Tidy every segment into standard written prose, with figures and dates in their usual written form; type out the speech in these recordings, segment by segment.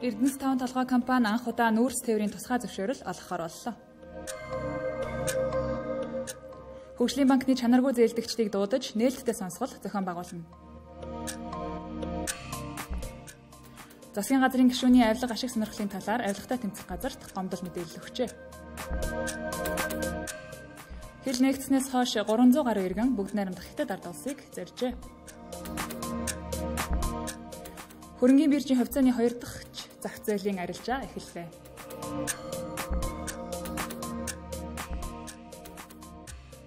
Эрдэнэс 5 толгой компани анх удаа нүүрс тээврийн тусгай зөвшөөрөл олгохоор боллоо. Хөгжлийн банкны чанаргүй зээлдэгчдийг дуудаж нээлттэй сонсгол зохион байгуулна. Засгийн газрын гишүүний авилга ашиг сонирхлын талаар авилгатай тэмцэх газарт гомдол мэдээлэл өгчээ. Хил нэгдснээс хойш 300 гаруй иргэн бүгд найрамдах Хятад ард улсыг зорьжээ. Хөрөнгийн биржийн хувьцааны 2 дахь зах зээлийн арилжаа эхэллээ.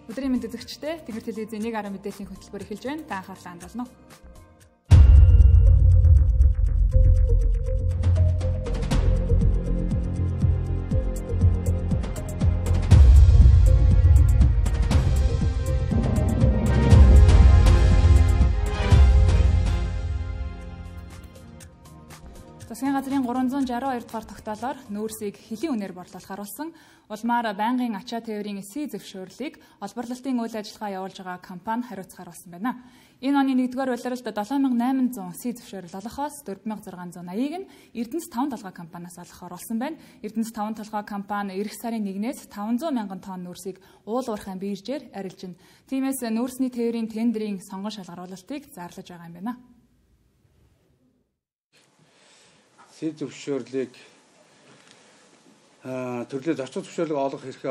Өдрийн мэнд үзэгчдээ Тэнгэр телевизийн 1 мэдээллийн хөтөлбөр эхэлж байна. Та анхаарлаа хандуулна уу? Засгийн газрын 362 дугаар тогтоолоор нүүрсийг хэлийн үнээр борлуулахаар болсон улмаар байнгын ачаа тээврийн эсийн зөвшөөрлийг олборлолтын үйл ажиллагаа явуулж байгаа компани хариуцахаар болсон байна. Энэ оны 1-р улиралд 7800 эсийн зөвшөөрөл олохоос 4680-ыг нь Эрдэнэс 5 толгой компаниас олохоор болсон байна. Эрдэнэс 5 толгой компани эх сарын 1-ээс 500 мянган тонн нүүрсийг уул уурхайн биржээр арилжина. Тиймээс нүүрсний тээврийн тендерийн сонгон шалгаруулалтыг зарлаж байгаа юм байна. Эсийн зөвшөөрлийг төрлөө зочид зөвшөөрлийг олох эрхийг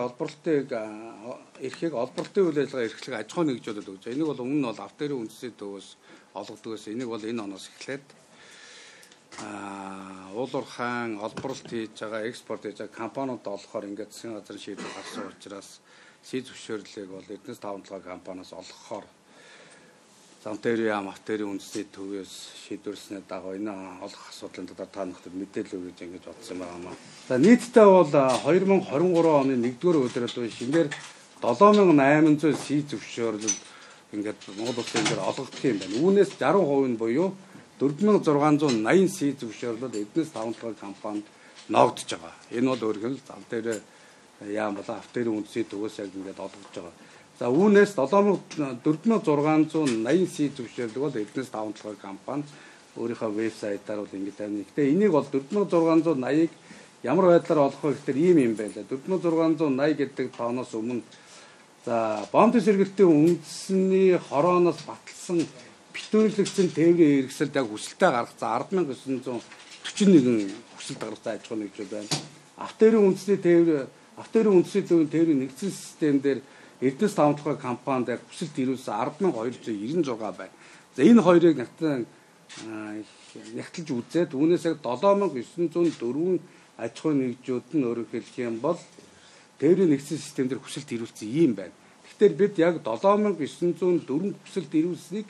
олборлолтын үйл ажиллагаа эрхлэх аж ахуй нэгжүүдэд өгч. Энийг бол өмнө нь бол авто эрийн үндэсний төвөөс олгодог байсан. Энийг бол энэ оноос эхлээд уулуурхайн олборлолт хийж байгаа, экспорт хийж байгаа компаниуд олохоор ингээд засгийн газрын шийдвэр гарсан учраас эсийн зөвшөөрлийг бол Эрдэнэс 5 толгой компаниас олгохоор Замтэрийн авторын үндэсний төвөөс шийдвэрлснээр дагуу энэ олох асуудлын талаар та бүхэнд мэдээлэл өгье гэж ингэж бодсон байна. За нийтдээ бол 2023 оны 1-р улиралд шинээр 7800 эсийн зөвшөөрлөл ингээд Монгол улсын дээр олгогдох юм байна. Үүнээс 60% нь буюу 4680 эсийн зөвшөөрлөл Эрдэнэс 5 толгой компанид ногдож байгаа. Энэ бол өөрөөр хэлбэл Замтэр яам болон авторын үндэсний төвөөс яг ингээд олгож байгаа. За үүнээс 4680 эсийн зөвшөөрлөг бол Эрдэнэс 5 толгой компани өөрийнхөө вебсайтаар бол ингэж тавина. Гэхдээ энийг бол 4680-ыг ямар байдлаар олох вэ гэхээр ийм байлаа. 4680 гэдэг тооноос өмнө за бомб сэргэлтийн үндэсний хорооноос баталсан битүүрлэгдсэн тээврийн хэрэгсэлд яг хүсэлтээ гаргацсан 10,941 хүсэлт гаргацсан аж ахуй нэгжүүд байна. Авторын үндэсний тээврийн нэгдсэн систем дээр Эрдэнэс 5 толгой компанид яг хүсэлт ирүүлсэн 10,296 байна. За энэ хоёрыг нягтлж үзээд үүнээс яг 7,904 аж ахуй нэгжүүд нь өөрөөр хэлэх юм бол тээврийн нэгдсэн системээр хүсэлт ирүүлсэн юм байна. Тэгэхээр бид яг 7,904 хүсэлт ирүүлсэнийг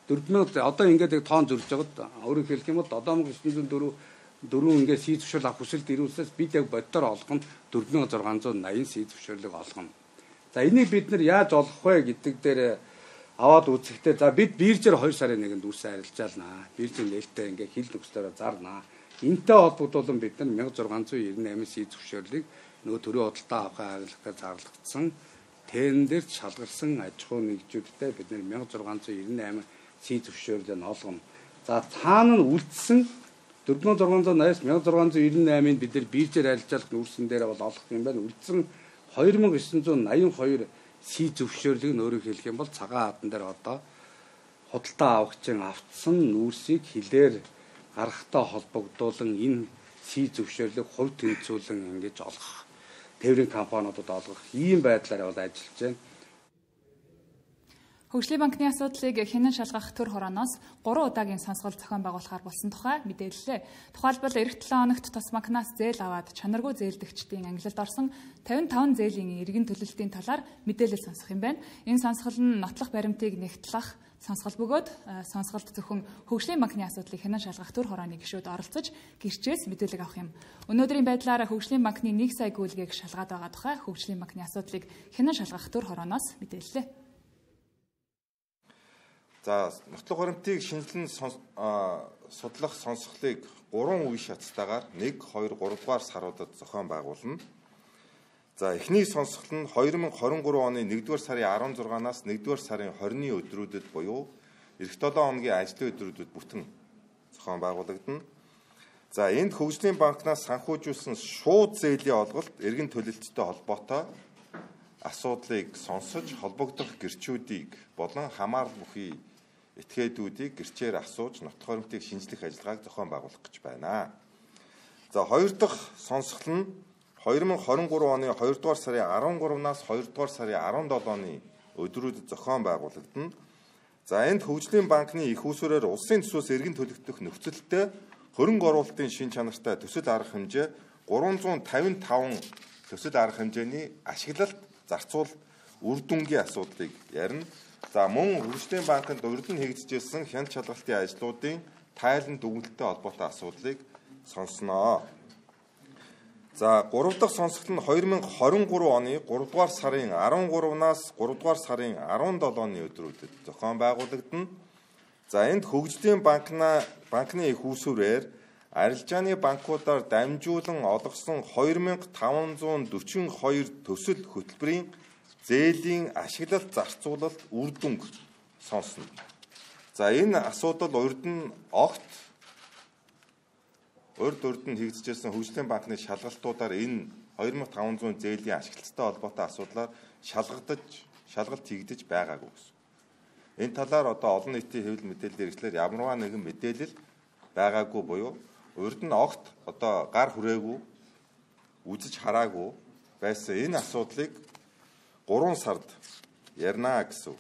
4,000 одоо ингээд яг тоон зөрж байгаад өөрөөр хэлэх юм бол 7,904 ингээд эсийн зөвшөөрөл авах хүсэлт ирүүлсээс бид яг боддоор олох нь 4680 эсийн зөвшөөрлөг олгоно. За энийг бид нар яаж олох вэ гэдэг дээр аваад үзэхдээ за бид биржээр 2 сарын 1-нд үрсэн арилжаалнаа. Биржийн нээлттэй ингээ хил нөхцлөөр зарнаа. Энтэй холбогдуулан бид нар 1698 зөвшөөрлийг нөгөө төрийн худалдаа авахын хариуцлагаар зарлагдсан тендерт шалгарсан аж ахуй нэгжүүдтэй бид нар 1698 зөвшөөрлийг олгоно. За цаана нь үлдсэн 4680-аас 1698-ыг бид нар биржээр арилжаалах нүүрсэн дээр бол олох юм байна. Үлдсэн 2982 эсийн зөвшөөрлийг өөрөөр хэлэх юм бол цагаан хатан дээр одоо худалдаа авагчийн автсан нүүрсийг хилээр гаргахтай холбогдуулан энэ эсийн зөвшөөрлийг хувь тэнцвүүлэн ингэж олгох тээврийн компаниудад олгох ийм байдлаар бол ажиллаж байна. Хөгжлийн банкны асуудлыг хянан шалгах төр хорооноос 3 удаагийн сонсгол зохион байгуулахаар болсон тухай мэдээллээ. Тухайлбал эх 7 хоногт тус банкнаас зээл аваад чанаргүй зээлдэгчдийн ангилалд орсон 55 зээлийн эргэн төлөлтийн талаар мэдээлэл сонсох юм байна. Энэ сонсгол нь нотлох баримтыг нэгтлах сонсгол бөгөөд сонсголт зөвхөн Хөгжлийн банкны асуудлыг хянан шалгах төр хорооны гишүүд оролцож гэрчээс мэдээлэл авах юм. Өнөөдрийн байдлаар Хөгжлийн банкны 1 сая гүйлгийг шалгаад байгаа тухай Хөгжлийн банкны асуудлыг хянан шалгах төр хорооноос мэдээллээ. За нотлох баримтыг шинжилэн судлах сонсголыг 3 үе шатстайгаар 1, 2, 3 дугаар саруудад зохион байгуулна. За эхний сонсгол нь 2023 оны 1-р сарын 16-наас 1-р сарын 20-ны өдрүүдэд буюу эх 7 хоногийн ажлын өдрүүдэд бүтэн зохион байгуулагдана. За энд хөгжлийн банкнаас санхүүжүүлсэн шууд зээлийн олголт эргэн төлөлттэй холбоотой асуудлыг сонсож холбогдох гэрчүүдийг болон хамаарал бүхий этгээдүүдийг гэрчээр асууж нотолгоо баримтыг шинжлэх ажиллагааг зохион байгуулах гэж байна. За хоёр дахь сонсгол нь 2023 оны 2 дугаар сарын 13-наас 2 дугаар сарын 17 оны өдрүүдэд зохион байгуулагдана. За энд хөгжлийн банкны их усүрээр улсын төсвөөс эргэн төлөгдөх нөхцөлтэй хөрөнгө оруулалтын шин чанартай төсөл арга хэмжээ 355 төсөл арга хэмжээний ашиглалт зарцуулалт үр дүнгийн асуудлыг ярина. За мөн хөгжлийн банкнд урд нь хийгдчихсэн хяналт шалгалтын ажлуудын тайлан дүгнэлттэй холбоотой асуудлыг сонсноо. За 3 дахь сонсгол нь 2023 оны 3 дугаар сарын 13-наас 3 дугаар сарын 17-ны өдрүүдэд зохион байгуулагдана. За энд хөгжлийн банкны их усүрээр арилжааны банкудаар дамжуулан олгосон 2542 төсөл хөтөлбөрийн зээлийн ашиглалт зарцуулалт үр дүнг сонсно. За энэ асуудал урд нь урд нь хийгдчихсэн хөгжлийн банкны шалгалтуудаар энэ 2500 зээлийн ашиглалттай холбоотой асуудлаар шалгалт хийгдэж байгаагүй гэсэн. Энэ талаар одоо олон нийтийн хэвлэл мэдээллийн хэрэгслэр ямарваа нэгэн мэдээлэл байгаагүй буюу урд нь одоо гар хүрээгүй үзэж хараагүй байсан энэ асуудлыг 3 сард ярина гэсэн.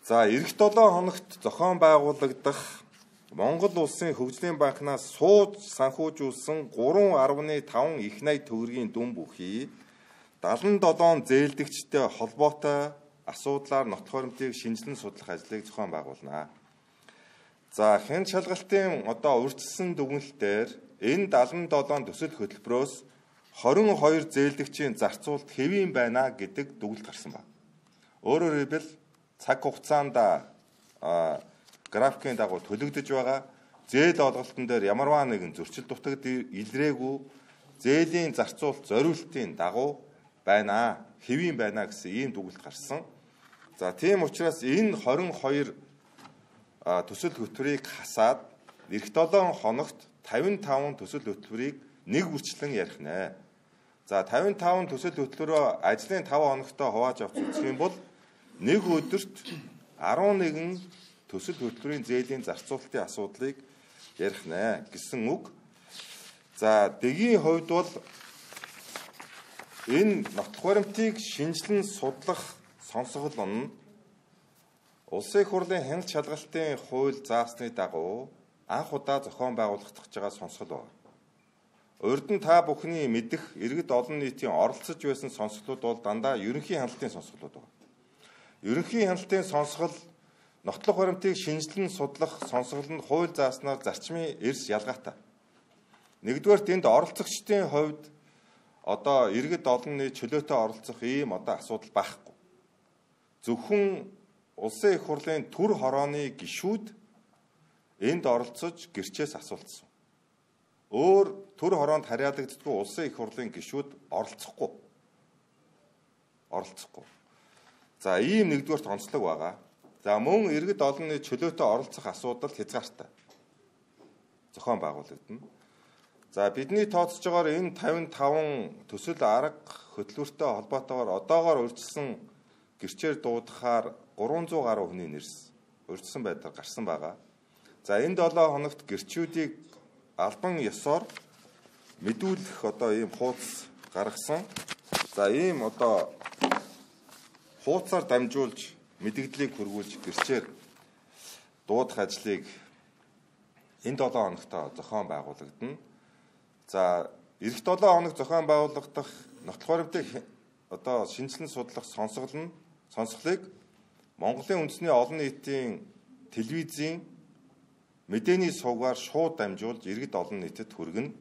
За эх 7 хоногт зохион байгуулагдах Монгол улсын хөгжлийн банкнаас сууж санхүүжүүлсэн 3.5 их найд төгрөгийн дүн бүхий 77 зээлдэгчтэй холбоотой асуудлаар нотолгоо баримтыг шинжилэн судлах ажлыг зохион байгуулна. За хяналт шалгалтын урьдчилсан дүгнэлтээр энэ 77 төсөл хөтөлбөрөөс 22 зээлдэгчийн зарцуулалт хэвийн байна гэдэг дүгнэлт гарсан байна. Өөрөөр хэлбэл цаг хугацаанд графикийн дагуу төлөгдөж байгаа зээл олголтын дээр ямарваа нэгэн зөрчил дутагд илрээгүй зээлийн зарцуулалт зориултын дагуу байна, хэвийн байна гэсэн ийм дүгнэлт гарсан. За тийм учраас энэ 22 төсөл хөтөлбөрийг хасаад эх 7 хоногт 55 төсөл хөтөлбөрийг нэг үрчлэн ярих нэ. За 55 төсөл хөтөлбөрөө ажлын 5 хоногтой хувааж авч үзэх юм бол нэг өдөрт 11 төсөл хөтөлбөрийн зээлийн зарцуулалтын асуудлыг ярих нэ гэсэн үг. За дэгийн хувьд бол энэ нотолгоо баримтыг шинжилэн судлах сонсгол нь Улсын их хурлын хяналт шалгалтын хууль заасны дагуу анх удаа зохион байгуулагдах байгаа сонсгол байна. Урд нь та бүхний мэдэх иргэд олон нийтийн оролцож байсан сонсголууд бол дандаа ерөнхий хяналтын сонсголууд байна. Ерөнхий хяналтын сонсгол нотолгоо баримтыг шинжилэн судлах сонсгол нь хууль зааснаар зарчмын эрс ялгаатай. Нэгдүгээр тэнд оролцогчдын хувьд иргэд олон нийт чөлөөтэй оролцох ийм асуудал байхгүй. Зөвхөн Улсын их хурлын төр хорооны гишүүд энд оролцож гэрчээс асуултсан. Өөр төр хороонд харьяалагддаггүй Улсын их хурлын гишүүд оролцохгүй. За ийм нэгдүгээр онцлог байгаа. За мөн иргэд олон нийт чөлөөтэй оролцох асуудал хязгаартай зохион байгуулагдана. За бидний тооцож байгаагаар энэ 55 төсөл арга хөтөлбөртэй холбоотойгоор одоогоор урьдчилсан гэрчээр дуудахаар 300 гаруй хүний нэрс урьдчилсан байдлаар гарсан байгаа. За энэ 7 хоногт гэрчүүдийг албан ёсоор мэдүүлэх ийм хуудас гаргасан. За ийм хуудасаар дамжуулж мэдээллийг хүргүүлж гэрчээр дуудах ажлыг энэ 7 хоногт зохион байгуулагдана. За эх 7 хоног зохион байгуулагдах нотолгоо баримтыг шинжилэн судлах сонсголыг Монголын үндэсний олон нийтийн телевизийн мэдээний сувгаар шууд дамжуулж иргэд олон нийтэд хүргэнэ.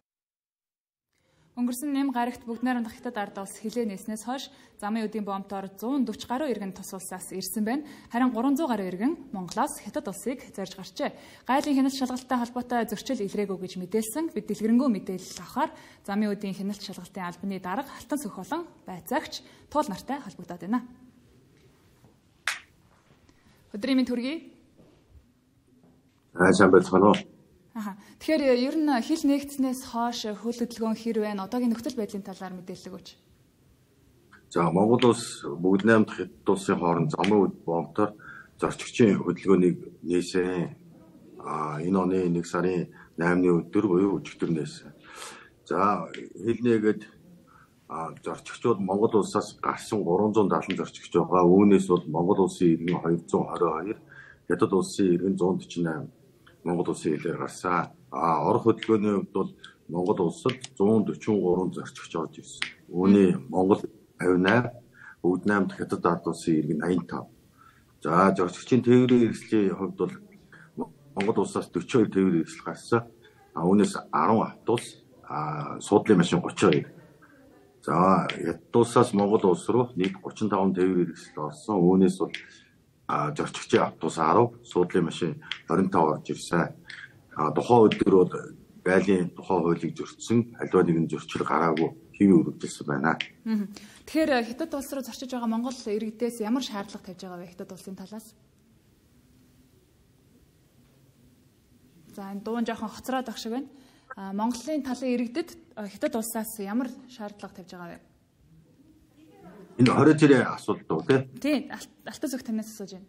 Өнгөрсөн нэм гарагт бүгд найрамдах Хятад ард улс хилээ нээснээс хойш замын үдийн бомбоор 140 гаруй иргэн тус улсаас ирсэн байна. Харин 300 гаруй иргэн Монголоос Хятад улсыг зорж гарчээ. Гайлын хяналт шалгалттай холбоотой зөрчил илрээгүй гэж мэдээлсэн. Бид дэлгэрэнгүй мэдээлэл авахаар замын үдийн хяналт шалгалтын албаны дарга Алтан Сүх болон байцаагч Туул нартай холбогдоод байна. Өдрийн мэнд хүргэе. Сайн байцгаана уу? Тэгэхээр ер нь хил нэгдснээс хойш хөл хөдөлгөөн хэр байна? Одоогийн нөхцөл байдлын талаар мэдээлэл өгөөч. За Монгол улс бүгд 8 дахь хэд улсын хооронд замын боомтоор зорчигчийн хөдөлгөөнийг нээсэн. Энэ оны 1 сарын 8-ны өдөр буюу өчигдөр нээсэн. За хэлнээгээд зорчигчид Монгол улсаас гарсан 370 зорчигч байгаа. Үүнээс бол Монгол улсын иргэн 222, хятад улсын иргэн 148 Монгол улсын хэлээр гарсан. Орох хөдөлгөөний хувьд бол Монгол улсад 143 зорчигч орж ирсэн. Үүний Монгол 58, бүгд 8 дахь хятад ард улсын иргэн 85. За зорчигчийн тээврийн хэрэгслийн хувьд бол Монгол улсаас 42 тээврийн хэрэгсэл гарсан. Үүнээс 10 автобус, суудлын машин 32. За хятад улсаас Монгол улс руу нийт 35 тээврийн хэрэгсэл орсон. Үүнээс бол зорчигчийн автобус 10, суудлын машин 25 орж ирсэн. Тухайн өдөр бол байлын тухайн хуулийг зөрчсөн, аливаа нэгэн зөрчил гараагүй хэвийн үргэлжилсэн байна. Тэгэхээр хятад улс руу зорчиж байгаа Монгол иргэдээс ямар шаардлага тавьж байгаа вэ хятад улсын талаас? За энэ дуун жоохон хоцроод байх шиг байна. Монголын талын иргэдэд хятад улсаас ямар шаардлага тавьж байгаа вэ? Энэ 20 тэрийн асуулт уу тий? Алтан зүг танаас асууж байна.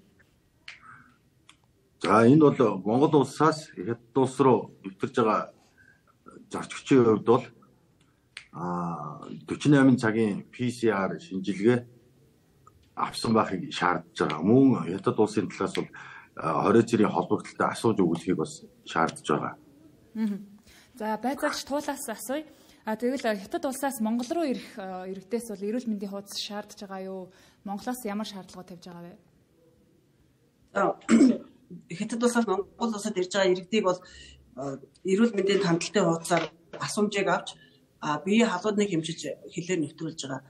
За энэ бол Монгол улсаас хятад улс руу нэвтэрж байгаа зорчигчийн хувьд бол 48 цагийн PCR шинжилгээ авсан байхыг шаардж байгаа. Мөн хятад улсын талаас бол 20 цэрийн холбогдлолтой асууж өгөхийг бас шаардж байгаа. За байцаагч туулаас асууя. Тэгвэл хятад улсаас Монгол руу ирэх иргэдээс бол эрүүл мэндийн хуудас шаардж байгаа юу? Монголоос ямар шаардлагууд тавьж байгаа вэ? Хятад улсаас Монгол улсад ирж байгаа иргэдийг бол эрүүл мэндийн хангалттай хуудасаар асуумжийг авч биеийн халууныг хэмжиж хэлээр нэвтрүүлж байгаа.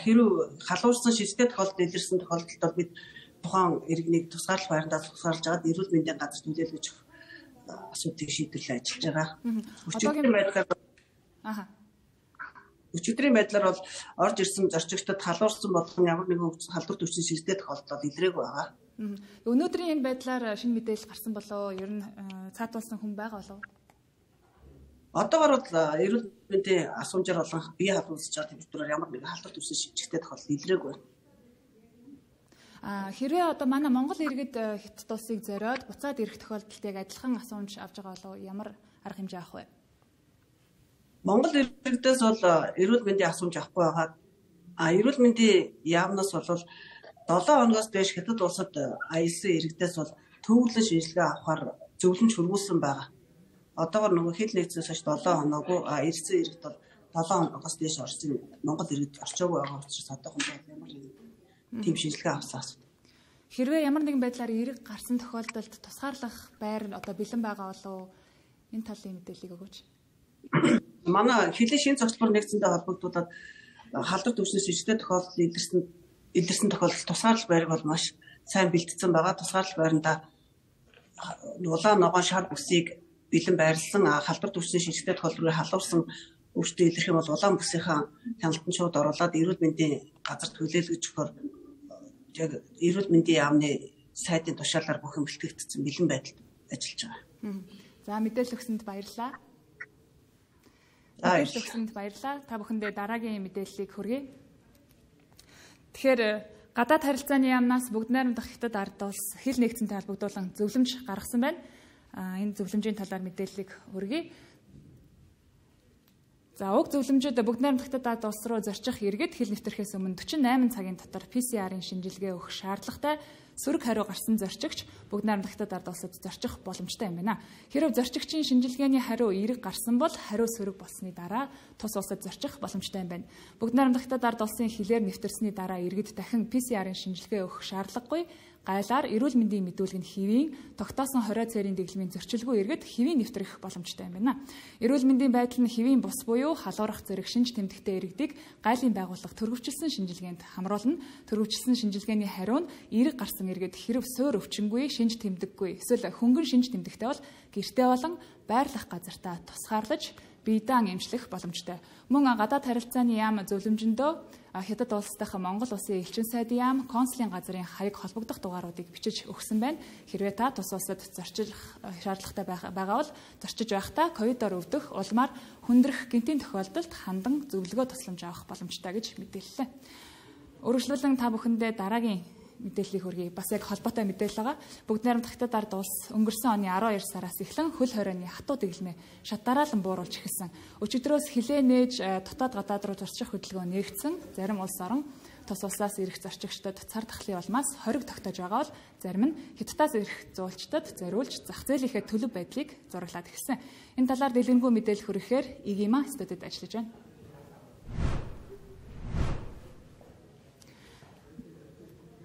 Хэрв халуурсан шилжтэй тохиолдолд илэрсэн тохиолдолд бол бид тухайн иргэнийг тусгаарлах байрандаа тусгаарлаж агаад эрүүл мэндийн газар төлөөлөж асуудыг шийдвэрлэж ажиллаж байгаа. Өчигдрийн байдлаар бол орж ирсэн зорчигчдод халуурсан болгон ямар нэгэн халдвар төвчний шилжтэй тохиолдолд илрээгүй байгаа. Өнөөдрийн энэ байдлаар шинэ мэдээлэл гарсан болоо ер нь цаатуулсан хүн байгаа болов? Одоогор бол эрүүл мэндийн асуумжаар болон бие халуусж байгаа температураар ямар нэгэн халдвар төвчний шилжтэй тохиолдолд илрээгүй байна. Хэрвээ одоо манай Монгол иргэд хятад улсыг зориод буцаад ирэх тохиолдолд яг адилхан асуумж авч байгаа болов ямар арга хэмжээ авах вэ? Монгол иргэдээс бол эрүүл мэндийн асуумж авахгүй байгаа. Эрүүл мэндийн яамнаас бол 7 хоногоос дээш хятад улсад аялсан иргэдээс бол төвлөрөн шинжилгээ авахар зөвлөмж хөрвүүлсэн байгаа. Одоогор нөгөө хил нэгдсээс хойш 7 хоноогүй ирсэн иргэд бол 7 хоногоос дээш орсон Монгол иргэд орчоогүй байгаа учраас одоохондоо ямар тийм шинжилгээ авсан асуудал. Хэрвээ ямар нэгэн байдлаар эрэг гарсан тохиолдолд тусгаарлах байр одоо бэлэн байгаа болов энэ талын мэдээллийг өгөөч. Манай хилийн шин цогцлбор нэгдсэндээ холбогдуулаад халдвар төвчний шилжтэй тохиолдолд илэрсэн тохиолдолд тусгаарлах байрыг бол маш сайн бэлтгэсэн байгаа. Тусгаарлах байранда улаан ногоон шар бүсийг бэлэн байрлсан халдвар төвчний шилжтэй тохиолдолд халуурсан өвчтөд илэрх юм бол улаан бүсийнхаа хяналтанд шууд оруулаад эрүүл мэндийн газар төлөөлгөж өгөхөөр яг эрүүл мэндийн яамны сайдын тушаалаар бүх юм бэлтгэгдсэн бэлэн байдалд ажиллаж байгаа. За мэдээлэл өгсөнд баярлалаа. Та бүхэндээ дараагийн мэдээллийг хүргэе. Тэгэхээр гадаад харилцааны яамнаас бүгд найрамдах хятад ард улс хил нэгдсэнтэй холбогдуулан зөвлөмж гаргасан байна. Энэ зөвлөмжийн талаар мэдээллийг хүргэе. За уг зөвлөмжөд бүгд найрамдах хятад ард улс руу зорчих иргэд хил нэвтрэхээс өмнө 48 цагийн дотор PCR-ын шинжилгээ өгөх шаардлагатай сөрөг хариу гарсан зорчигч бүгд найрамдах хятад ард улсад зорчих боломжтой юм байна. Хэрв зорчигчийн шинжилгээний хариу эерэг гарсан бол хариу сөрөг болсны дараа тус улсад зорчих боломжтой юм байна. Бүгд найрамдах хятад ард улсын хилээр нэвтэрсний дараа иргэд дахин PCR-ын шинжилгээ өгөх шаардлагагүй. Гайлаар эрүүл мэндийн мэдүүлэг нь хэвийн тогтоосон 20 цэрийн дэглэмийн зөрчилгүй иргэд хэвийн нэвтрэх боломжтой юм байна. Эрүүл мэндийн байдал нь хэвийн бус буюу халуурах зэрэг шинж тэмдэгтэй иргэдийг гайлын байгууллага төрөвчлсөн шинжилгээнд хамруулна. Төрөвчлсөн шинжилгээний хариу нь эерэг гарсан иргэд хэрв суур өвчнгүй, шинж тэмдэггүй, эсвэл хөнгөн шинж тэмдэгтэй бол гэртээ болон байрлах газартаа тусгаарлаж биедан эмчлэх боломжтой. Мөн гадаад харилцааны яам зөвлөмжөндөө Хятад улсдах Монгол улсын элчин сайдын яам консулын газрын хаяг холбогдох дугааруудыг бичиж өгсөн байна. Хэрвээ та тус улсад зорчих шаардлагатай байгаа бол зорчиж байхдаа ковидоор өвдөх, улмаар хүндрэх гэмтийн тохиолдолд хандан зөвлөгөө тусламж авах боломжтой гэж мэдээллээ. Өргөжлүүлэн та бүхэндээ дараагийн мэдээллийг хүргэе. Бас яг холбоотой мэдээлэл байгаа. Бүгд найрамдах Хятад ард улс өнгөрсөн оны 12 сараас эхлэн хөл хорионы хатуу дэглэмээ шат дараалан бууруулж эхэлсэн. Өчигдрөөс хилээ нээж дотоод гадаад руу зорчих хөдөлгөөн нээгдсэн. Зарим улс орон тус улсаас ирэх зорчигчдод цар тахлын улмаас хориг тогтоож байгаа бол зарим нь Хятадаас ирэх зуулчдад зориулж зах зээлийнхээ төлөв байдлыг зураглаад эхэлсэн. Энэ талаар дэлгэрэнгүй мэдээлэл хүргэхээр ИГИМА студид ажиллаж байна.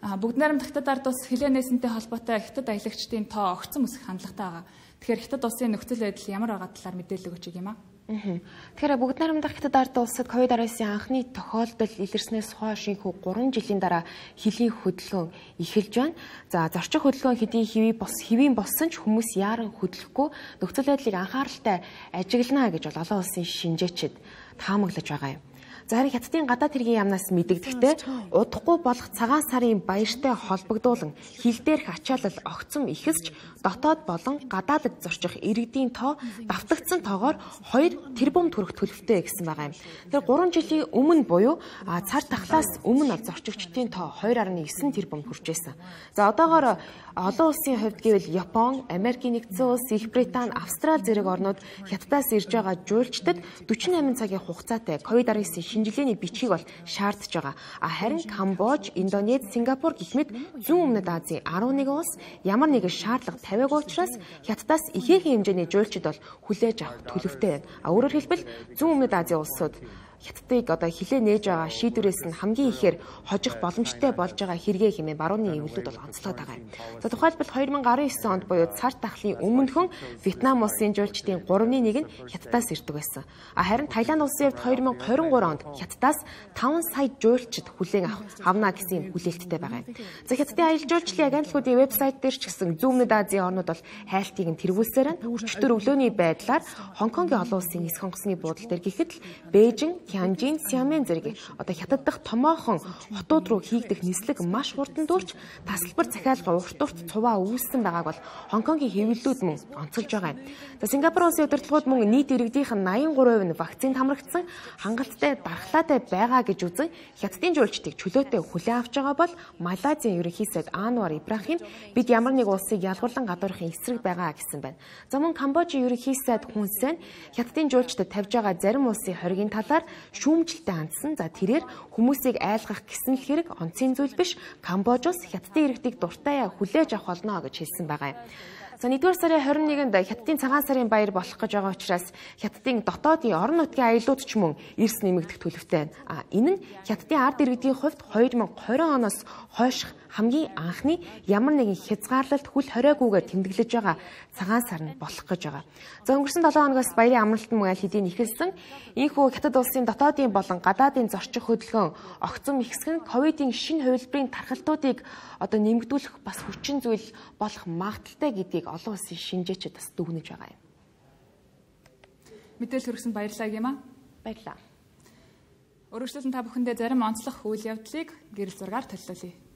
Бүгд найрамдах Хятад ард улс хилээ нээсэнтэй холбоотой Хятад аялагчдын тоо огцон өсөх хандлагатай байгаа. Тэгэхээр Хятад улсын нөхцөл байдал ямар байгаа талаар мэдээлэл өгч юм аа. Тэгэхээр бүгд найрамдах Хятад ард улсад COVID-19 анхны тохиолдол илэрснээс хойш инхүү 3 жилийн дараа хилийн хөдөлгөөн эхэлж байна. За зорчих хөдөлгөөн хэвийн болсон ч хүмүүс яаран хөдлөхгүй нөхцөл байдлыг анхааралтай ажиглана гэж бол олон улсын шинжээчид таамаглаж байгаа юм. За харин Хятадын гадаад хэргийн яамнаас мэдэгдэхдээ удахгүй болох цагаан сарын баяртай холбогдуулан хил дээрх ачаалал огцом ихсэж дотоод болон гадаадд зорчих иргэдийн тоо давтагдсан тоогоор 2 тэрбум төгрөг төлөвтэй гэсэн байгаа юм. Тэр 3 жилийн өмнө буюу цар тахлаас өмнө зорчигчдын тоо 2.9 тэрбум хүрчээсэн. За одоогоор олон улсын хувьд гэвэл Япон, Америкийн нэгдсэн улс, Их Британи, Австрали зэрэг орнууд Хятадаас ирж байгаа жуулчдад 48 цагийн хугацаатай COVID-19 шинжилгээний бичгийг бол шаардж байгаа. Харин Камбож, Индонез, Сингапур гэх мэт зүүн өмнөд Азийн 11 улс ямар нэгэн шаардлага тавиагүй учраас Хятадаас ихээхэн хэмжээний жуулчид бол хүлээж авах төлөвтэй байна. Өөрөөр хэлбэл зүүн өмнөд Азийн улсууд Хятадыг одоо хилээ нээж байгаа шийдвэрээс нь хамгийн ихээр хожих боломжтой болж байгаа хэрэгээ хэмээн барууны эвлэлүүд бол онцлоод байгаа юм. За тухайлбал 2019 онд буюу цар тахлын өмнөхөн Вьетнам улсын жуулчдын 3/1 нь Хятадаас ирдэг байсан. Харин Таиланд улсын хувьд 2023 онд Хятадаас 5 сая жуулчид хүлээн авна гэсэн хүлээлттэй байгаа юм. За Хятадын аялал жуулчлалын агентлагуудын вебсайт дээр ч гэсэн зүүн өмнөд Азийн орнууд бол хайлтыг нь тэргүүлсээр нь өчтөр өглөөний байдлаар Хонконгийн олон улсын эс хонгоцны буудал дээр гэхэд Бээжин, Тянжин, Сиамэн зэрэг одоо Хятад дахь томоохон хотууд руу хийгдэх нислэг маш хурдан дүүлж тасалбар захиалга урт цуваа үүссэн байгааг бол Хонконгийн хэвлэлүүд мөн онцолж байгаа юм. За Сингапур улсын удирдлагууд мөн нийт иргэдийнх нь 83% нь вакцинд хамрагдсан, хангалттай дархлаатай байгаа гэж үзэн Хятадын жуулчдыг чөлөөтэй хүлээн авч байгаа бол Малайзийн ерөнхий сайд Анвар Ибрахим бид ямар нэг улсыг ялгуулан гадуурхын эсрэг байгаа гэсэн байна. За мөн Камбожийн ерөнхий сайд Хүн Сен Хятадын жуулчдад тавьж байгаа зарим улсын хоригийн талаар шүүмжлэлтэй хандсан. За тэрээр хүмүүсийг айлгах гэсэн л хэрэг онцгийн зүйл биш. Камбож улс Хятадын иргэдийг дуртай хүлээж авах болно гэж хэлсэн байгаа юм. За 1-р сарын 21-нд Хятадын цагаан сарын баяр болох гэж байгаа учраас Хятадын дотоодын орон нутгийн аяллууд ч мөн эрс нэмэгдэх төлөвтэй байна. Энэ нь Хятадын ард иргэдийн хувьд 2020 оноос хойших хамгийн анхны ямар нэгэн хязгаарлалт хүл хориогүйгээр тэмдэглэж байгаа цагаан сар нь болох гэж байгаа. За өнгөрсөн 7 хоногоос баярын амралт мөн аль хэдийн ихэлсэн. Ийхүү Хятад улсын дотоодын болон гадаадын зорчих хөдөлгөөн огцом ихсэх нь ковидын шинэ хувилбарын тархалтуудыг одоо нэмэгдүүлэх бас хүчин зүйл болох магадaltaй гэдгийг олон улсын шинжээчид бас дүгнэж байгаа юм. Мэдээлэл хүргэсэн баярлалаа юм аа. Баярлалаа. Өргөжлөлн та бүхэндээ зарим онцлог үйл явдлыг гэрэл зургаар төлөвлөе.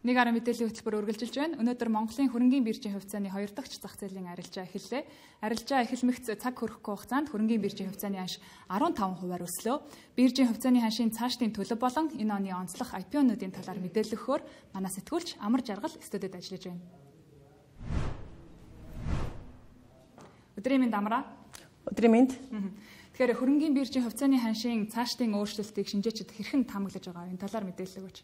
Нэг арга мэдээллийн хөтөлбөр үргэлжилж байна. Өнөөдөр Монголын хөрөнгийн биржийн хувьцааны 2 дахь зах зээлийн арилжаа эхэллээ. Арилжаа эхлэмэгц цаг хүрэхгүй хугацаанд хөрөнгийн биржийн хувьцааны ханш 15%-аар өслөө. Биржийн хувьцааны ханшийн цаашдын төлөв болон энэ оны онцлог IPO-нуудын талаар мэдээлэл өгөхөөр манай сэтгүүлч Амар Жаргал студид ажиллаж байна. Өдрийн мэнд Амраа. Өдрийн мэнд. Тэгэхээр хөрөнгийн биржийн хувьцааны ханшийн цаашдын өөрчлөлтийг шинжээчид хэрхэн таамаглаж байгаа энэ талаар мэдээлэл өгөөч.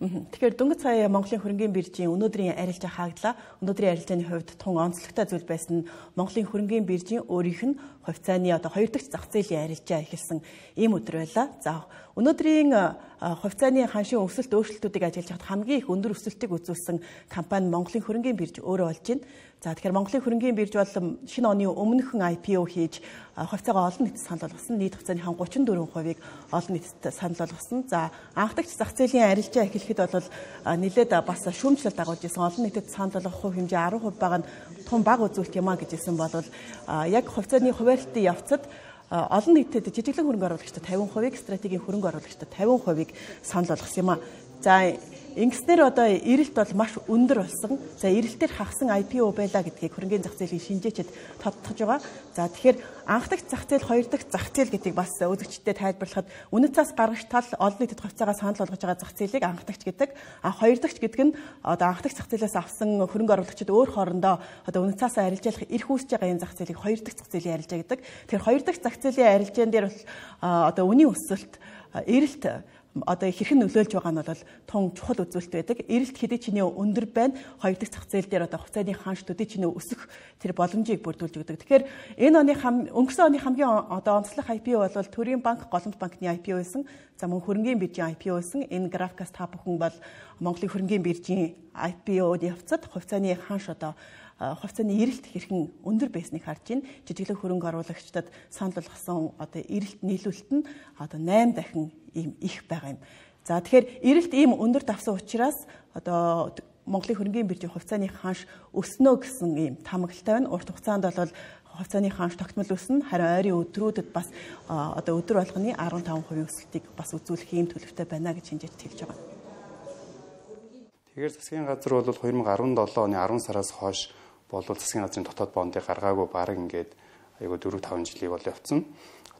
Тэгэхээр дөнгөж сая Монголын хөрөнгийн биржийн өнөөдрийн арилжаа хааглаа. Өнөөдрийн арилжааны хувьд тун онцлогтой зүйл байсан нь Монголын хөрөнгийн биржийн өөрийнх нь хувьцааны 2 дахь зах зээлийн арилжаа эхэлсэн ийм өдөр байлаа. За өнөөдрийн хувьцааны ханшийн өсөлт өөрчлөлтүүдийг ажиллаж хад хамгийн их өндөр өсөлтийг үзүүлсэн компани Монголын хөрөнгийн бирж өөрөө болж байна. За тэгэхээр Монголын хөрөнгийн бирж бол шинэ оны өмнөхөн IPO хийж хувьцаагаа олон нийтэд санал болгосон. Нийт хувьцааны 34%-ийг олон нийтэд санал болгосон. За анх дахь зах зээлийн арилжаа эхлэхэд бол нэлээд бас шүүмжлэлт дагуулж исэн. Олон нийтэд санал болгох хувь хэмжээ 10% байгаа нь тун бага үзүүлэлт юм а гэжсэн бол яг хувьцааны хуваарлтын явцад олон нийтэд жижиглэн хөрөнгө оруулагчдад 50%-ийг, стратегийн хөрөнгө оруулагчдад 50%-ийг санал болгосон юм а. За ингэснээр одоо эрэлт бол маш өндөр болсон. За эрэлтээр хагасан IPO байлаа гэдгийг хөрөнгөний зах зээлийн шинжээчид тодтогч байгаа. За тэгэхээр анх дахь зах зээл, 2 дахь зах зээл гэдгийг бас үзэгчдэд тайлбарлахад үнэт цаас гаргаж тал олон нийтэд хувьцаагаа санал болгож байгаа зах зээлийг анх дахьч гэдэг. 2 дахьч гэдэг нь одоо анх дахь зах зээлээс авсан хөрөнгө оруулагчид өөр хоорондоо одоо үнэт цаасаа арилжаалах эрх үүсэж байгаа энэ зах зээлийг 2 дахь зах зээлийн арилжаа гэдэг. Тэгэхээр 2 дахь зах зээлийн арилжаан дээр бол одоо үнийн өсөлт, эрэлт одоо хэрхэн нөлөөлж байгаа нь бол тун чухал үзүүлэлт байдаг. Эрэлт хэдий чиний өндөр байна. 2 дахь зах зээл дээр одоо хувьцааны ханш төдий чиний өсөх тэр боломжийг бүрдүүлж өгдөг. Тэгэхээр энэ оны өнгөрсөн оны хамгийн одоо онцлог IPO бол Төрийн банк, Голомт банкны IPO байсан. За мөн хөрөнгийн биржийн IPO байсан. Энэ графикаас та бүхэн бол Монголын хөрөнгийн биржийн IPO-д явцад хувьцааны ханш одоо хувьцааны эрэлт хэрхэн өндөр байсныг харж байна. Жижиглэн хөрөнгө оруулагчдад санал болгосон одоо эрэлт нийлүүлэлт нь одоо 8 дахин ийм их байгаа юм. За тэгэхээр эрэлт ийм өндөр давсан учраас одоо Монголын хөрөнгийн биржийн хувьцааны ханш өснө гэсэн ийм таамаглалтай байна. Урт хугацаанд бол хувьцааны ханш тогтмол өснө, харин ойрын өдрүүдэд бас одоо өдөр болгоны 15% өсөлтийг бас үзүүлэх ийм төлөвтэй байна гэж шинжээчид хэлж байгаа. Тэгэхээр засгийн газар бол 2017 оны 10 сараас хойш болвол засгийн газрын дотоод бондыг гаргаагүй бараг ингээд айгуу 4-5 жилийг бол явцсан.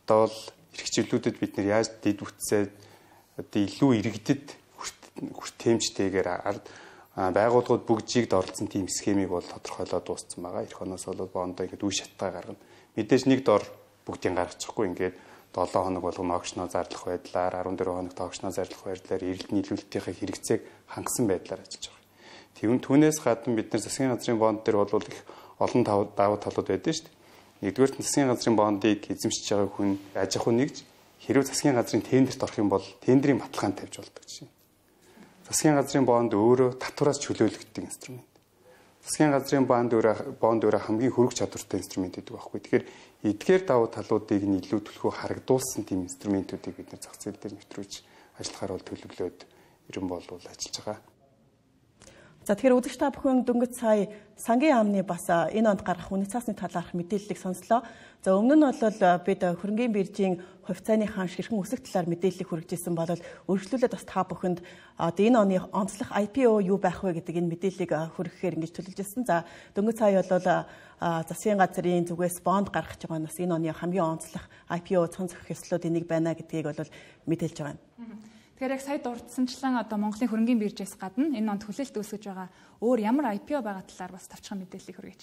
Одоо бол эрх чиглэлүүдэд бид нэр яаж дэд үтсээ одоо илүү иргэдэд хүртээмжтэйгээр байгууллагууд бүгжийг доролцсон тийм схемийг бол тодорхойлоод дууссан байгаа. Эх оноос бол бондоо ингээд үе шаттай гаргана. Мэдээж нэг дор бүгдийг гаргачихгүй ингээд 7 хоног болгоно огшноо зарлах байдлаар 14 хоног огшноо зарлах байдлаар эрэлт нийлүүлэлтийн хэрэгцээг хангасан байдлаар ажиллаж байгаа. Түүнээс гадна бид нар засгийн газрын бонд дээр бол их олон давуу талууд байдаг шүү дээ. Нэгдүгээр нь засгийн газрын бондыг эзэмшиж байгаа хүн аж ахуй нэгж хэрвээ засгийн газрын тендерт орох юм бол тендерийн баталгаанд тавьж болдог жишээ. Засгийн газрын бонд өөрөө татвараас чөлөөлөгддөг инструмент. Засгийн газрын бонд өөрөө хамгийн хөрөг чадвартай инструмент гэдэг байхгүй. Тэгэхээр эдгээр давуу талуудыг нь илүү төлхөө харагдуулсан тийм инструментуудыг бид нар зах зээл дээр нэвтрүүлж ажиллахаар бол төлөвлөөд ерөн болвол ажиллаж байгаа. За тэгэхээр үзэгч та бүхэн дөнгөж сая сангийн яамны бас энэ онд гарах үнэт цаасны талаарх мэдээллийг сонслоо. За өмнө нь бол бид хөрөнгийн биржийн хувьцааны ханш хэрхэн өсөх талаар мэдээллийг хүргэжсэн бол өргөжлүүлээд бас та бүхэнд энэ оны онцлог IPO юу байх вэ гэдэг энэ мэдээллийг хүргэхээр ингэж төлөвлөж ирсэн. За дөнгөж сая бол засгийн газрын зүгээс бонд гаргах гэж байгаа нь бас энэ оны хамгийн онцлог IPO цон зохих ёслолуудын нэг байна гэдгийг бол мэдээлж байгаа юм. Тэгэхээр яг сая дурдсанчлан одоо Монголын хөрөнгийн биржээс гадна энэ онд хүлээлт үүсгэж байгаа өөр ямар IPO байгаа талаар бас тавчхан мэдээллийг хүргэж.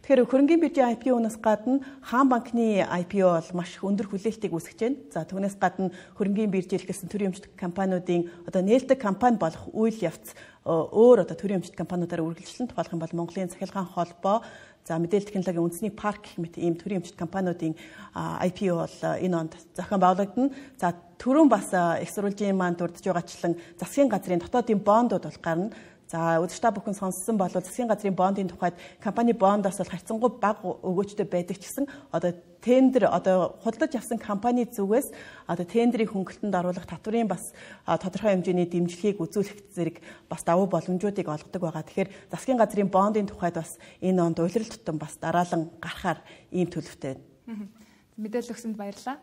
Тэгэхээр хөрөнгийн биржийн IPO-наас гадна хаан банкны IPO бол маш өндөр хүлээлтийг үүсгэж байна. За түүнээс гадна хөрөнгийн биржийн хэлсэн төрийн өмчт компаниудын одоо нээлттэй компани болох үйл явц өөр одоо төрийн өмчт компаниудаар үргэлжлэн тухайлах юм бол Монголын цахилгаан холбоо, за мэдээлэл технологийн үндэсний парк гэх мэт ийм төрийн өмчт компаниудын IPO бол энэ онд зохион байгуулагдана. За түрүүн бас их сурвалжийн маань дурдж байгаачлан засгийн газрын дотоодын бондууд бол гарна. За үзэгч та бүхэн сонссон бол засгийн газрын бондын тухайд компани бондоос бол харьцангуй бага өгөөжтэй байдаг ч гэсэн одоо тендер одоо худалдаж авсан компани зүгээс одоо тендерийн хөнгөлтөнд оруулах татврын бас тодорхой хэмжээний дэмжлэгийг үзүүлэх зэрэг бас давуу боломжуудыг олгодог байгаа. Тэгэхээр засгийн газрын бондын тухайд бас энэ онд улирал тутам бас дараалан гарахаар ийм төлөвтэй байна. Мэдээлэл өгсөнд баярлалаа.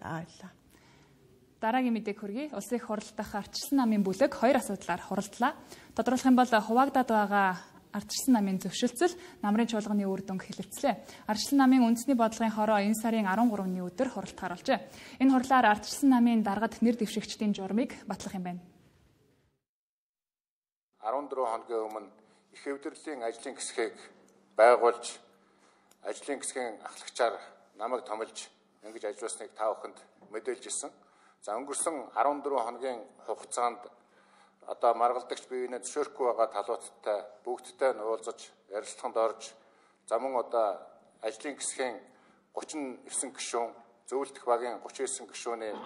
За баярлалаа. Дараагийн мэдээг хүргэе. Улсын их хурл дахь ардчилсан намын бүлэг 2 асуудлаар хуралдлаа. Тодорхойлох юм бол хуваагдаад байгаа ардчилсан намын зөвшөлтсөл намрын чуулганы үр дүнг хэлэлцлээ. Ардчилсан намын үндэсний бодлогын хороо энэ сарын 13-ны өдөр хуралд харуулжээ. Энэ хурлаар ардчилсан намын даргад нэр дэвшигчдийн журмыг батлах юм байна. 14 хоногийн өмнө их хэвдэрлийн ажлын хэсгийг байгуулж ажлын хэсгийн ахлагчаар намайг томилж ингэж ажилласныг та бүхэнд мэдээлж ирсэн. За өнгөрсөн 14 хоногийн хугацаанд одоо маргалдагч биеийнээ зөвшөөрөхгүй байгаа талуудтай бүгдтэй нуулзаж ярилцлаганд орж за мөн одоо ажлын хэсгийн 39 гишүүн зөвлөлдөх багийн 39 гишүүний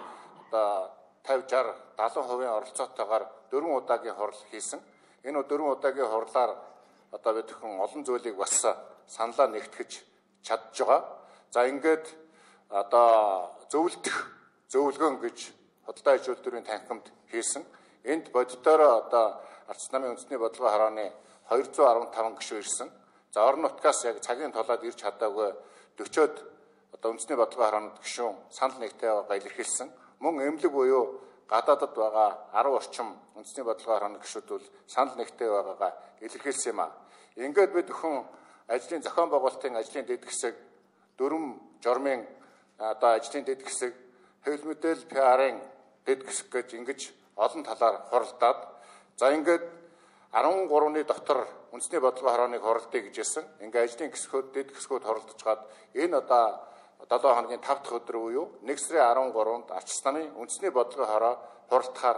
одоо 50 60 70% оролцоотойгоор 4 удаагийн хурал хийсэн. Энэ 4 удаагийн хурлаар одоо бид хүн олон зүйлийг бас саналаа нэгтгэж чадж байгаа. За ингээд одоо зөвлөгөөн гэж худалдаа аж үйлдвэрийн танхимд хийсэн. Энд бодитоороо одоо ардчилсан намын үндэсний бодлогын хорооны 215 гишүүн ирсэн. За орон нутгаас яг цагийн тулаад ирж чадаагүй 40-од одоо үндэсний бодлогын хороонд гишүүн санал нэгтэй байгаа илэрхийлсэн. Мөн эмнэлэг буюу гадаадад байгаа 10 орчим үндэсний бодлогын хорооны гишүүд бол санал нэгтэй байгаагаа илэрхийлсэн юм а. Ингээд бид өхөн ажлын зохион байгуулалтын ажлын дэд хэсэг, дөрвөн журмын одоо ажлын дэд хэсэг, хэвлэл мэдээлэл PR-ын дэд хэсэг гэж ингэж олон талаар хуралдаад за ингээд 13-ны дотор үндэсний бодлогын хорооныг хуралдъя гэж хэлсэн. Ингээд ажлын хэсгүүд дэд хэсгүүд хуралдаж гад энэ одоо 7 хоногийн 5 дахь өдөр буюу 1 сарын 13-нд ардчилсан намын үндэсний бодлогын хороо хуралдахаар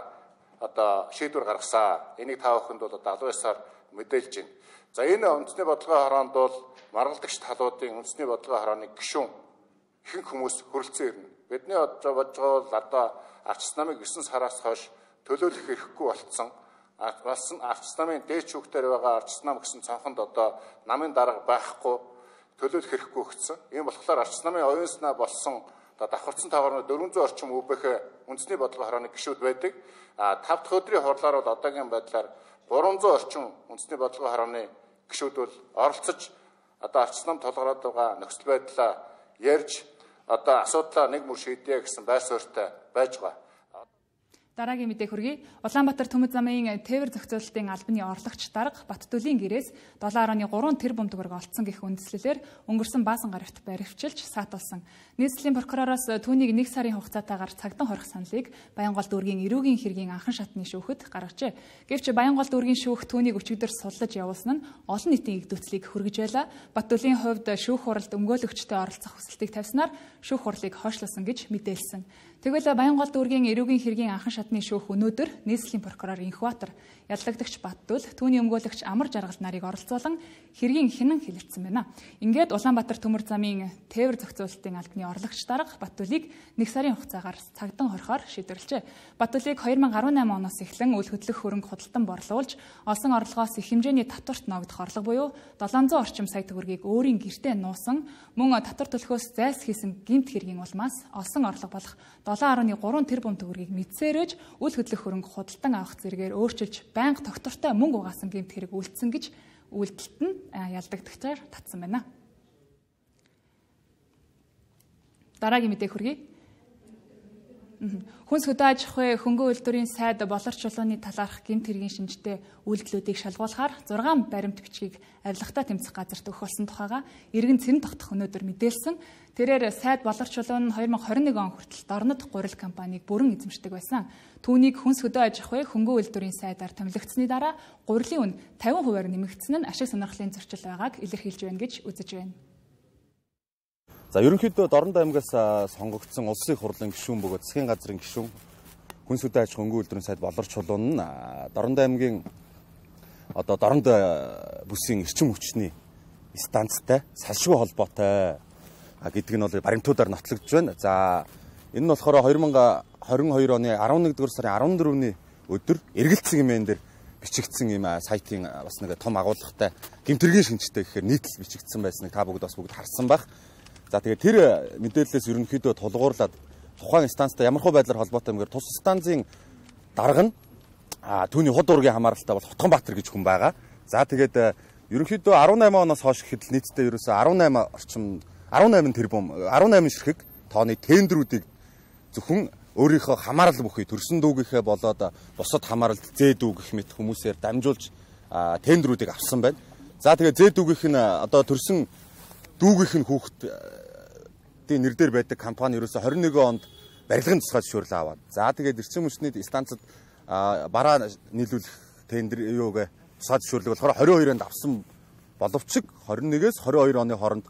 одоо шийдвэр гаргасан. Энийг та бүхэнд бол одоо 19-аар мэдээлж байна. За энэ үндэсний бодлогын хороонд бол маргалдагч талуудын үндэсний бодлогын хорооны гишүүн ихэнх хүмүүс хөрөлцөн ирнэ. Бидний бодож байгаа бол одоо ардчилсан намыг 9 сараас хойш төлөөлөх хэрэггүй болцсон. Ардчилсан намын дээд шүүхтэр байгаа ардчилсан нам гэсэн цонхонд одоо намын дарга байхгүй төлөөлөх хэрэггүй өгсөн. Ийм болохоор ардчилсан намын оюун санаа болсон одоо давхарцсан таагаар 400 орчим өвөх үндэсний бодлогын хорооны гишүүд байдаг. 5 дахь өдрийн хурлаар бол одоогийн байдлаар 300 орчим үндэсний бодлогын хорооны гишүүд бол оролцож одоо ардчилсан нам толгороод байгаа нөхцөл байдлаа ярьж одоо асуудлаа нэг мөр шийдэе гэсэн байр суурьтай байж байгаа. Дараагийн мэдээ хүргэе. Улаанбаатар Төмөд замын тээвэр зохицуулалтын албаны орлогч дарга Баттүлийн гэрээс 7.3 тэрбум төгрөг олцсон гэх үндэслэлээр өнгөрсөн баасан гарагт баривчилж саатуулсан. Нийслэлийн прокуророос түүнийг 1 сарын хугацаатаагаар цагдан хорих саналыг Баянголд дүүргийн эрүүгийн хэргийн анхан шатны шүүхэд гаргажээ. Гэвч Баянголд дүүргийн шүүх түүнийг өчигдөр суллаж явуулсан нь олон нийтийн игдүүцлийг хүргэж байла. Баттүлийн хувьд шүүх хуралд өмгөөлөгчтэй оролцох хүсэлтийг тавьснаар шүүх хурлыг хойшлуулсан гэж мэдээлсэн. Тэгвэл Баянголд дүүргийн эрүүгийн хэргийн анхан шатны шүүх өнөөдөр нийслэлийн прокурор Инхбаатар, яллагдагч Баттүл, түүний өмгөөлөгч Амар Жаргал нарыг оролцуулан хэргийн хинэн хэлэлцсэн байна. Ингээд Улаанбаатар Төмөр замын тээвэр зохицуулалтын албаны орлогч дарга Баттүлийг 1 сарын хугацаагаар цагдан хорихоор шийдвэрлэжээ. Баттүлийг 2018 оноос эхлэн үл хөдлөх хөрөнгө худалдан борлуулж, олсон орлогоос их хэмжээний татварт ногдох орлого буюу 700 орчим сая төгрөгийг өөрийн гэртээ нуусан, мөн татвар төлөхөөс зайлс хийсэн гэмт хэргийн улмаас олсон орлого болох 7.3 тэрбум төгрөгийг мэдсээрэж үл хөдлөх хөрөнгө худалдан авах зэрэгээр өөрчилж байнга тогтвортой мөнгө угаасан гэмт хэрэг үйлдсэн гэж үйлдэлт нь ялдагдагчаар татсан байна. Дараагийн мэдээ хүргэе. Хүнс хөдөө аж ахуй хөнгөн үйлдвэрийн сайд болорч чулууны талаарх гэмт хэргийн шинжтэй үйлдэлүүдийг шалгуулахаар 6 баримт бичгийг авилгатай тэмцэх газарт өгөх болсон тухайга иргэн цэрэн тогтох өнөөдөр мэдээлсэн. Тэрээр сайд болорч чулуун нь 2021 он хүртэл дорнод гурил компанийг бүрэн эзэмшдэг байсан. Түүнийг хүнс хөдөө аж ахуй хөнгөн үйлдвэрийн сайдаар томилогдсны дараа гурилын үн 50%-аар нэмэгдсэн нь ашиг сонирхлын зөрчил байгааг илэрхийлж байна гэж үзэж байна. За ерөнхийдөө Дорнод аймгаас сонгогдсон улсын их хурлын гишүүн бөгөөд засгийн газрын гишүүн хүнс хөдөө аж ахуй хөнгөн үйлдвэрийн сайд болорч чулуун нь Дорнод аймгийн одоо Дорнод бүсийн эрчим хүчний станцтай салшгүй холбоотой гэдэг нь бол баримтуудаар нотлогдож байна. За энэ нь болохоор 2022 оны 11 дугаар сарын 14-ний өдөр эргэлцсэн хэмээн дээр бичигдсэн юм сайтын бас нэг том агуулгатай гэмтэргийн шинжтэй гэхээр нийтлэл бичигдсэн байсныг та бүгд харсан байх. За тэгээд тэр мэдээлэлээс ерөнхийдөө тулгуурлаад тухайн станцтай ямархуу байдлаар холбоотой юмгээр тус станцын дарга нь түүний худ уургийн хамааралтай бол Хотгонбаатар гэж хүн байгаа. За тэгээд ерөнхийдөө 18 оноос хойш гэхэд нийтдээ ерөөсөө 18 тэрбум 18 ширхэг тооны тендерүүдийг зөвхөн өөрийнхөө хамаарал бүхий төрсөн дүүгийнхээ болоод бусад хамааралд зээ дүү гэх мэт хүмүүсээр дамжуулж тендерүүдийг авсан байна. За тэгээ зээ дүүгийнх нь одоо төрсөн дүүгийнх нь хүүхдийн нэр дээр байдаг компани ерөөсө 21 онд барилгын тусгай зөвшөөрлөө аваад. За тэгээд эрчим хүчний станцад бараа нийлүүлэх тендер юуг тусгай зөвшөөрлөг болохоор 22-нд авсан боловч 21-ээс 22 оны хооронд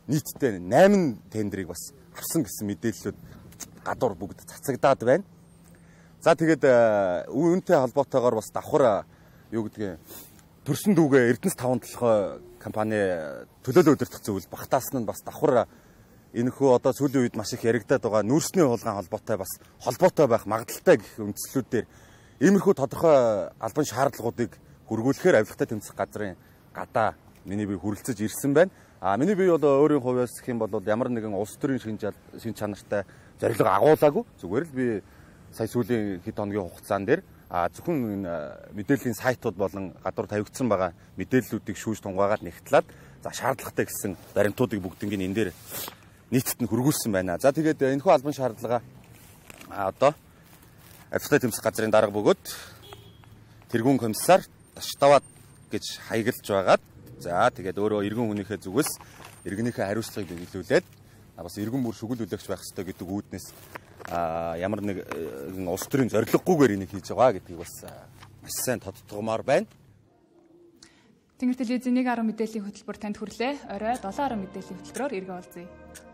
нийтдээ 8 тендерийг бас авсан гэсэн мэдээллүүд гадуур бүгд цацагдаад байна. За тэгээд үүнтэй холбоотойгоор бас давхар юу гэдгийг төрсөн дүүгээ Эрдэнэс 5 толгой компани төлөөлөө удирдах зөвлөл багтаасан нь бас давхар энэхүү одоо сүүлийн үед маш их яригадаад байгаа нүүрсний хулгайн холбоотой байх магадaltaй гэх үндслүүдээр иймэрхүү тодорхой албан шаардлагуудыг хөргүүлэхээр авилгатай тэмцэх газрын гадаа миний бие хүрэлцэж ирсэн байна. Миний бие бол өөрийн хувьас гэх юм бол ямар нэгэн улс төрийн шин чанартай зорилго агуулаагүй. Зүгээр л би сая сүүлийн хэд хоногийн хугацаан дээр зөвхөн мэдээллийн сайтууд болон гадуур тавигдсан байгаа мэдээллүүдийг шүүж тунгаагаад нэгтлээд за шаардлагатай гэсэн баримтуудыг бүгднийг энэ дээр нийтэд нь хөргүүлсэн байна. За тэгээд энэхүү албан шаардлага одоо авилгатай тэмцэх газрын дарга бөгөөд тэргүүн комиссар Таштаваад гэж хаягалж байгаад за тэгээд өөрөө иргэн хүнийхээ зүгээс иргэнийхээ хариуцлагыг биелүүлээд бас иргэн бүр шүглүүлэгч байх ёстой гэдэг үүднээс ямар нэгэн улс төрийн зорилгогүйгээр энийг хийж байгаа гэдгийг бас маш сайн тодтогмоор байна. Тэнгэр телевизийн 1.10 мэдээллийн хөтөлбөр танд хүрлээ. Орой 7.10 мэдээллийн хөтөлбөрөөр эргэн уулзъя.